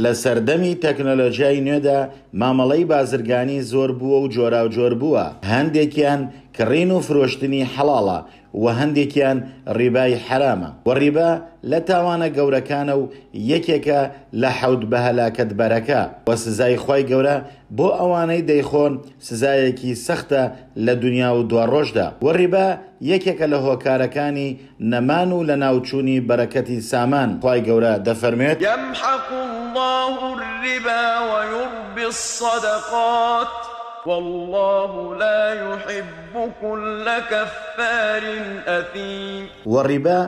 لە سەردەمی تەکنۆلۆژیای نوێدا مامەڵەی بازرگانی زۆر بووە و جۆراوجۆر بووە، هەندێکیان کڕین و فرۆشتنی حەڵاڵە و هەندێکیان ڕیبای حەرامە، وە ڕیبا لە تاوانە گەورەکانە و یەکێکە لە حەوت بەهەلاکەتبەرەکە، وە سزای خوای گەورە بۆ ئەوانەی دەیخۆن سزایەکی سەختە لە دونیا و دواڕۆژدا، وە ڕیبا یەکێکە لە هۆکارەکانی نەمان و لەناوچوونی بەرەکەتی سامان، خوای گەورە دەفەرموێت. یمحق اللە الربا ویربی الصدقات واللە لا یحب کل کفار اثیم. وە ڕیبا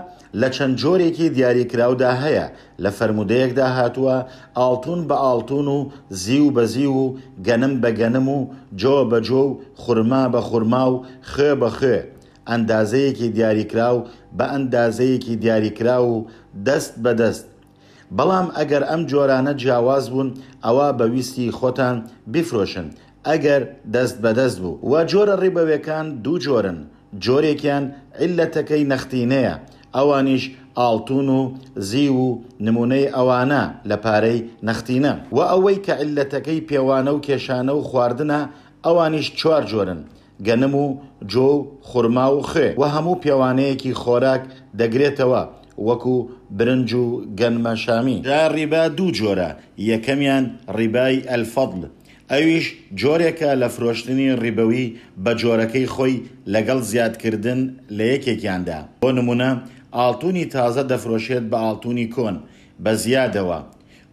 لە چەند جۆرێکی دیاریکراودا هەیە، لە فەرموودەیەکدا هاتووە، ئاڵتوون بە ئاڵتوون و زیو بە زیو و گەنم بە گەنم و جۆ بە جۆ و خورما بە خورما و خوێ بە خوێ، ئەندازەیەکی دیاریکراو بە ئەندازەیەکی دیاریکراو و دەست بە دەست، بەڵام ئەگەر ئەم جۆرانە جیاواز بوون ئەوا بە ویستی خۆتان بیفرۆشن ئەگەر دەست بە دەست بوو. وە جۆرە ڕیبەوێکان دوو جۆرن، جۆرێکیان عیللەتەکەی نەختینەیە ئەوانیش ئاڵتون و زیو و نمونەی ئەوانە لە پارەی نەختینە. وە ئەوەی کە عیللەتەکەی پێوانە و کێشانە و خواردنە ئەوانیش چوار جۆرن، گەنم و جۆ و خورما و خوێ و هەموو پێوانەیەکی خۆراک دەگرێتەوە وەکو برنج و گەنمە شامی. جا ڕیبا دوو جۆرە، یەکەمیان ڕیبای الفضل ئەویش جۆرێکە لە فرۆشتنی ڕیبەوی بە جۆرەکەی خۆی لەگەڵ زیادکردن لە یەکێکیاندا، بۆ نموونە ئاڵتونی تازە دەفرۆشێت بە ئاڵتونی کۆن بە زیادەوە،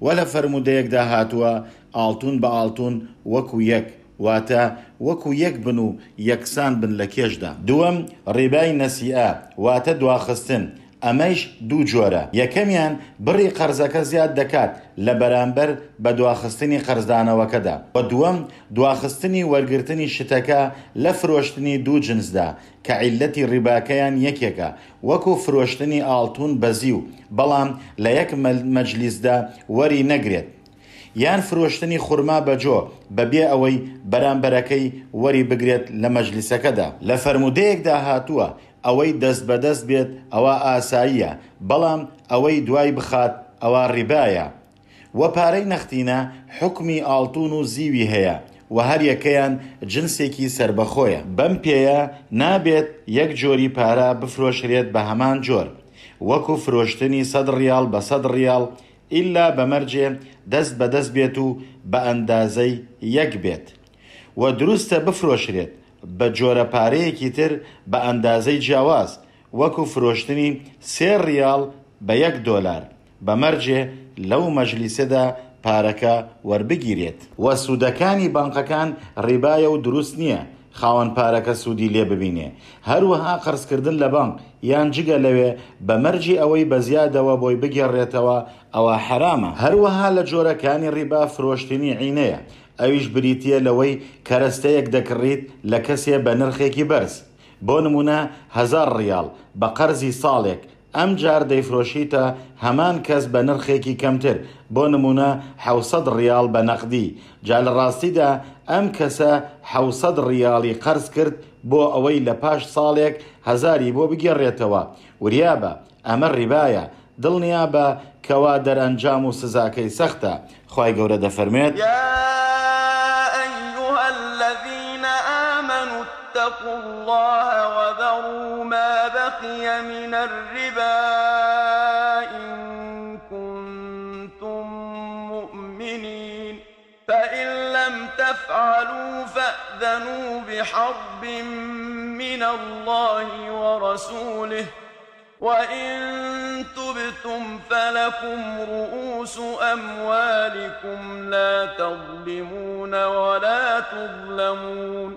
وە لە فەرموودەیەکدا هاتووە ئاڵتون بە ئاڵتون وەکو یەک، واتە، وەکو یەک بن و یەکسان بن لە کێشدا. دووەم، ڕیبای نەسیئە، واتە دواخستن، ئەمەیش دوو جۆرە، یەکەمیان، بڕی قەرزەکە زیاد دەکات لە بەرامبەر بە دواخستنی قەرزدانەوەکەدا، وە دووەم، دواخستنی وەرگرتنی شتەکە لە فرۆشتنی دوو جنسدا کە عیللەتی ڕیباکەیان یەکێکە، وەکو فرۆشتنی ئاڵتون بە زیو، بەڵام لە یەک مەجلیسدا وەری نەگرێت. یان فرۆشتنی خورما بە جۆ بە بێ ئەوەی بەرامبەرەکەی وەری بگرێت لە مەجلیسەکەدا. لە فەرموودەیەکدا هاتووە، ئەوەی دەست بە دەست بێت ئەوا ئاساییە، بەڵام ئەوەی دوای بخات ئەوا ڕیبایە. وە پارەی نەختینە حوکمی ئاڵتون و زیوی هەیە و هەر یەکەیان جنسێکی سەربەخۆیە. بەم پێیە نابێت یەک جۆری پارە بفرۆشرێت بە هەمان جۆر، وەکو فرۆشتنی سەد ڕیاڵ بە سەد ڕیاڵ ئیلا بە مەرجێ دەست بە دەست بێت و بە ئەندازەی یەک بێت. وە دروستە بفرۆشرێت بە جۆرە پارەیەکی تر بە ئەندازەی جیاواز، وەکو فرۆشتنی سێ ڕیاڵ بە یەک دۆلار، بە مەرجێ لەو مەجلیسەدا پارەکە وەربگیرێت. وە سوودەکانی بانقەکان ڕیبایە و دروست نییە خاوەن پارەکە سوودی لێ ببینێ، هەروەها قەرزکردن لە بانق یان جگە لەوێ بە مەرجی ئەوەی بە زیادەوە بۆی بگێڕێتەوە ئەوە حەرامە. هەروەها لە جۆرەکانی ڕیبا فرۆشتنی عینەیە، ئەویش بریتییە لەوەی کەرەستەیەک دەکڕیت لە کەسێ بە نرخێکی بەرز، بۆ نموونە هەزار ڕیاڵ بە قەرزی ساڵێک، ئەمجار دەیفرۆشیتە هەمان کەس بە نرخێکی کەمتر، بۆ نموونە حەوسەد ڕیاڵ بە نەقدی، جا لە ڕاستیدا ئەم کەسە حەوسەد ڕیاڵی قەرز کرد بۆ ئەوەی لە پاش ساڵێک هەزاری بۆ بگێڕێتەوە، وریابە ئەمە ڕیبایە، دڵنیابە کەوا دەرئەنجام و سزاکەی سەختە، خوای گەورە دەفەرموێت. یا ایها الذین آمنوا اتقوا اللە وذروا ما بقی من الربا ان کنتم مؤمنین فإن لم تفعلوا فأذنوا بحرب من اللە ورسوله وَإِن تُبْتُمْ فَلَكُمْ رُءُوسُ أَمْوَالِكُمْ لَا تَظْلِمُونَ وَلَا تُظْلَمُونَ.